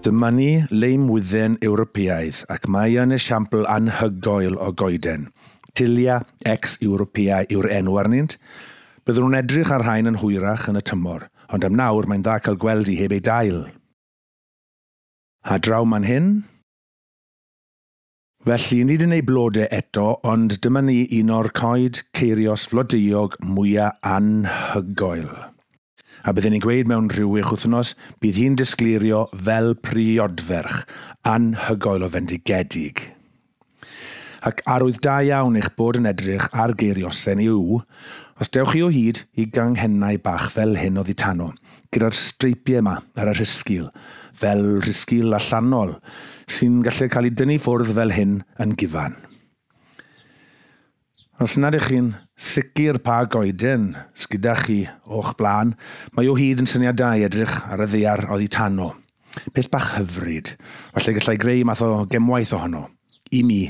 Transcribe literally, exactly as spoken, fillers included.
Dyma ni leimwydden Ewropeaidd ac mae yn esiampl anhygoel o goeden. Tilia ex Europea yw'r enw arnynt. Byddwn nhw'n edrych ar rhain yn hwyrach yn y tymor, ond am nawr mae'n dda cael gweld i heb ei dail. A draw man hyn? Felly, nid yn ei blodau eto, ond dyma ni un o'r coed ceirios flodeuog mwyaf anhygoel. A byddwn ni'n gweud mewn rhyw wech wythnos, bydd hi'n disgleirio fel priodferch, anhygoel o fendigedig. Ac arwydd da iawn eich bod yn edrych ar geiriosen yw, os dewch chi o hyd i ganghennau bach fel hyn oddi tano, gyda'r streipiau yma ar y rhisgil, fel rhisgil allanol, sy'n gallu cael ei dynnu ffwrdd fel hyn yn gyfan. Os nad ych chi'n sicr pa goeden sgyda chi o'ch blaen, mae o hyd yn syniad da i edrych ar y ddaear oddi tano. Peth bach hyfryd. Falle gallai greu math o gemwaith ohono. I mi.